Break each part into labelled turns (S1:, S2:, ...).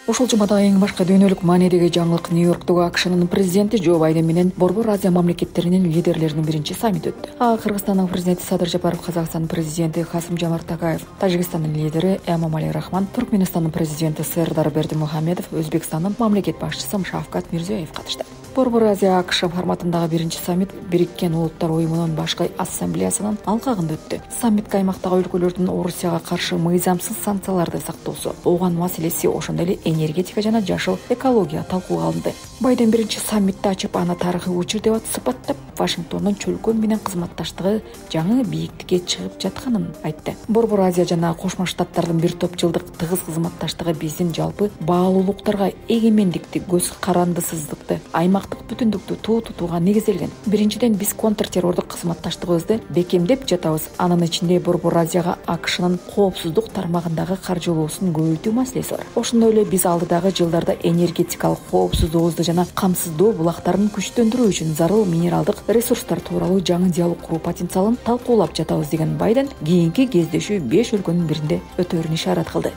S1: Ушул жумада эң башкы дүйнөлүк маанидеги жаңылык Нью-Йорктогу AQShnын президенти Джо Байден менен Борбор Азия мамлекеттеринин лидерлеринин биринчи саммити өттү. Кыргызстандын президенти Садыр Жапаров, Казакстандын президенти Касым-Жомарт Такаев, Тажикстандын лидери Эмомали Рахмон, Туркменистандын президенти Сердар Бердимухамедов, Өзбекстандын мамлекет башчысы Шавкат Мирзиёев катышты. Борбор Азия AQSh форматындагы биринчи саммит Бириккен Улуттар уюмунун башкы ассамблеясынын алкагында өттү. Саммитке аймактагы өлкөлөрдүн Орусияга каршы мыйзамсыз санкцияларды сактоосу, ооган маселеси, ошондой эле энергетика жана жашыл экология талкууга алынды. Байден биринчи саммитти ачып, аны тарыхый учур деп сыпаттап, Вашингтондун чөлкөө менен кызматташтыгы жаңы бийиктикке чыгып жатканын айтты. Борбор Азия жана Кошмо Штаттардын бир топ жылдык тыгыз кызматташтыгы биздин жалпы баалуулуктарга, эгемендикти, көз карандысыздыкты, аймактык бүтүндүктү туу тутууга негизделген. Биринчиден, биз контртеррордук кызматташтыгыбызды бекемдеп жатабыз. Анын ичинде Борбор Азияга AQShnын коопсуздук тармагындагы каржылоосун көбөйтүү маселеси бар. Ошондой эле биз алдыдагы жылдарда энергетикалык коопсуздугубузду жана камсыздоо булактарын күчтөндүрүү үчүн зарыл минералдык ресурстар тууралуу жаңы диалог куруу потенциалын талкуулап жатабыз деген Байден кийинки кездешүү 5 өлкөнүн биринде өтөөрүн ишарат кылды.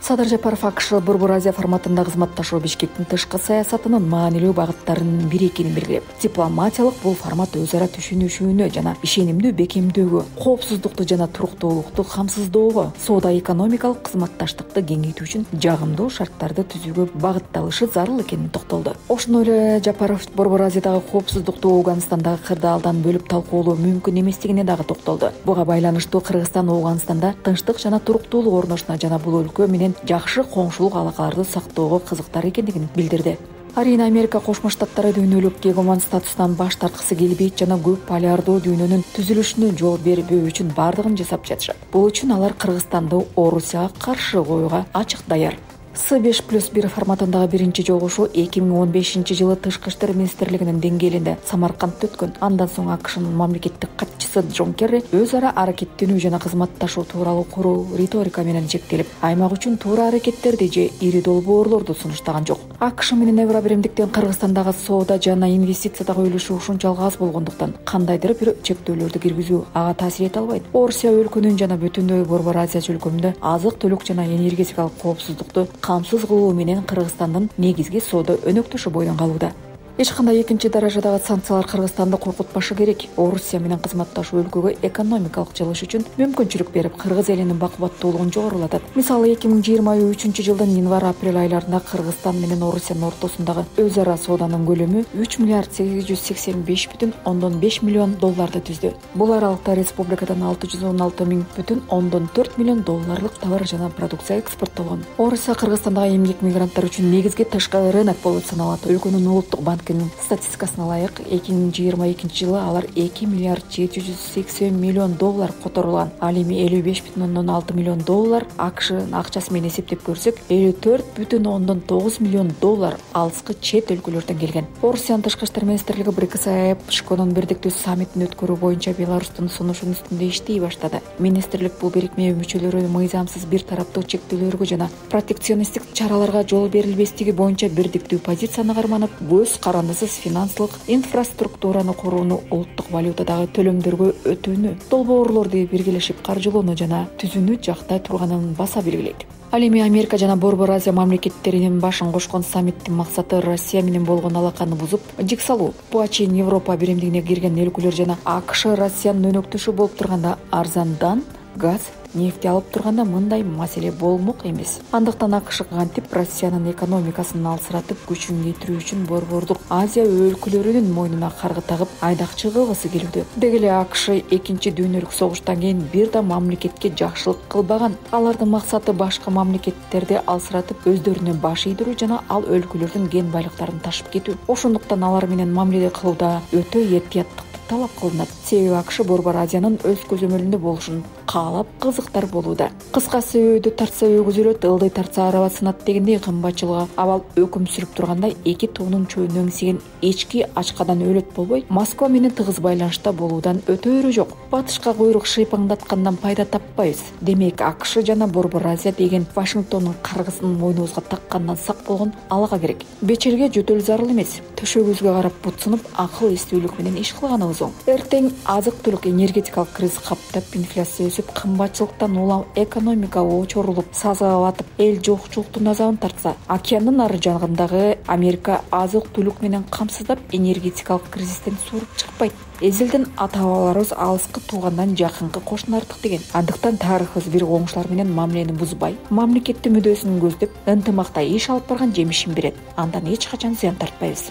S1: Садыр Жапаров AQSh Борбор Азия форматында кызматташуу Бишкектин тышкы саясатынын маанилүү багыттарынын бири экенин белгилеп, дипломатиялык бул формат өз ара түшүнүшүүнө жана ишенимдүү бекемдөөгө, коопсуздукту жана туруктуулукту камсыздоого, соода-экономикалык кызматташтыкты кеңейтүү үчүн жагымдуу шарттарды түзүүгө багытталышы зарыл экенин токтолду. Ошондой эле Жапаров Борбор Азиядагы коопсуздукту Ооганстандагы кырдаалдан бөлүп талкуулоо мүмкүн эместигине дагы токтолду. Буга байланыштуу Кыргызстан Ооганстанда тынчтык жана туруктуулук орношуна жана бул өлкө менен жакшы коңшулук алакаларды сактоого кызыктар экендигин билдирди. Арийне Америка Кошмо Штаттары дүйнөлүк гегемон статустан баш тарткысы келбейт жана көп полярдуу дүйнөнүн түзүлүшүнө жол бербөө үчүн бардыгын жасап жатышат. Бул үчүн алар Кыргызстанды Орусияга каршы коюуга ачык даяр. С5+1 форматындагы биринчи жолугушуу 2015-жылы Тышкы иштер министрлигинин деңгээлинде Самаркандта өткөн. Андан соң AQShnын мамлекеттик катчысы Джон Керри өз ара аракеттенүү жана кызматташуу тууралуу куруу риторика менен чектелип, аймак үчүн туура аракеттерди же ири долбоорлорду сунуштаган жок. AQSh менен Евро биримдиктен Кыргызстандагы соода жана инвестициядагы үлүшү ушунчалык аз болгондуктан кандайдыр бир чектөөлөрдү киргизүү ага таасир эте албайт. Орусия өлкөнүн жана бүтүндөй Борбор Азия чөлкөмүндө азык-түлүк жана энергетикалык коопсуздукту камсыз кылуу менен Кыргызстандын негизги соода өнөктөшү бойдон калууда. Эч кандай экинчи даражадагы санкциялар Кыргызстанды коркутпашы керек. Орусия менен кызматташуу өлкөгө экономикалык жылыш үчүн мүмкүнчүлүк берип, кыргыз элинин бакубаттуулугун жогорулатат. Мисалы 2023-жылдын январь-апрель айларында Кыргызстан менен Орусиянын ортосундагы өз ара сооданын көлөмү 3 миллиард 885,5 миллион долларды түздү. Бул аралыкта республикадан 616,4 миллион долларлык товар жана продукция экспорттолгон. Орусия Кыргызстандагы эмгек мигранттар үчүн негизги тышкы рынок болуп саналат. Өлкөнүн улуттук банкынын статистикасына ылайык 2022-жылы алар 2 миллиард 780 миллион доллар которулган. Ал эми 55,6 миллион доллар AQSh акчасы менен эсептеп көрсөк, 54,9 миллион доллар алыскы чет өлкөлөрдөн келген. Орусиянын тышкы иштер министрлиги БРИКС ШКнын бирдиктүү саммитин өткөрүү боюнча Беларустун сунушунун үстүндө иштей баштады. Министрлик бул бирикме мүчөлөрү мыйзамсыз бир тараптуу чектөөлөргө жана протекционисттик чараларга жол берилбестиги боюнча бирдиктүү позицияны карманып, көз карандысыз финансылык инфраструктураны курууну, улуттук валютадагы төлөмдөргө өтүүнү, долбоорлорду биргелешип каржылоону жана түзүүнү жактай турганын баса белгилейт. Ал эми Америка жана Борбор Азия мамлекеттеринин башын кошкон саммиттин максаты Россия менен болгон алаканы бузуп, жик салуу. Буга чейин Европа биримдигине кирген өлкөлөр жана AQSh Россиянын өнөктөшү болуп турганда арзандан газ, нефти алып турганда мындай маселе болмок эмес. Андыктан AQSh кантип Россиянын экономикасын алсыратып күчүн кетирүү үчүн Борбордук Азия өлкөлөрүнүн мойнуна каргы тагып айдакчы кылгысы келүүдө. Деги эле AQSh экинчи дүйнөлүк согуштан кийин бир да мамлекетке жакшылык кылбаган. Алардын максаты башка мамлекеттерди алсыратып өздөрүнө баш ийдирүү жана ал өлкөлөрдүн кен байлыктарын ташып кетүү. Ошондуктан алар менен мамиле кылууда өтө этияттык талап кылынат. Себеби AQSh Борбор Азиянын өз көзөмөлүндө болушун каалап кызыктар болууда. Кыскасы, өйдү тартса өгүзүлөт, ылдый тартса араба сынат дегендей кымбатчылыгы абал өкүм сүрүп турганда эки тоонун чөйнү эңсеген эчки ачкадан өлөт болбой, Москва менен тыгыз байланышта болуудан өтөөрү жок. Батышка куйрук шыйпаңдаткандан пайда таппайбыз. Демек AQSh жана Борбор Азия деген Вашингтондун каргысын мойнубузга таккандан сак болгон алага керек. Бечелге жөтөл зарыл эмес. Төшөгүбүзгө карап бутсунуп, акыл эстүүлүк менен иш кылганыбыз оң. Эртең азык-түлүк энергетикалык криз каптап, инфляция өсүп, өсүп, кымбатчылыктан улам экономика очорулуп, сазга батып, эл жокчулуктун азабын тартса, океандын ары жагындагы Америка азык-түлүк менен камсыздап, энергетикалык кризистен сууруп чыкпайт. Эзелден ата-бабаларыбыз алыскы туугандан жакынкы кошуна артык деген. Андыктан тарыхыбыз бир коңшулар менен мамилени бузбай, мамлекеттин мүдөсүн көздөп, ынтымакта иш алып барган жемишин берет. Андан эч качан зыян тартпайбыз.